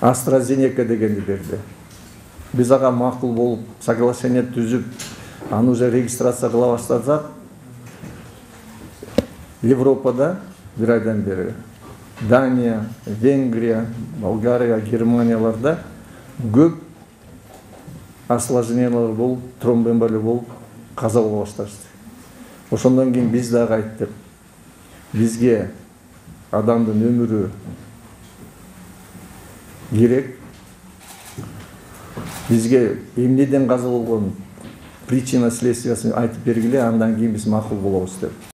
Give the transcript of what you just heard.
AstraZeneca дегенди берди. Биз ага макул болуп, соглашение түзүп, аны уже регистрация кыла баштасак, Европада бир айдан бери Дания, Венгрия, Болгария, Германияларда көп осложнениялар болуп, тромбоэмболия болуп, каза боло башташты. Ошондон кийин биз дагы айттык. Бизге адамдын өмүрү керек. Бизге эмнеден каза болгон причина следствиясын айтып бергиле, андан кийин биз макул болобуз деп.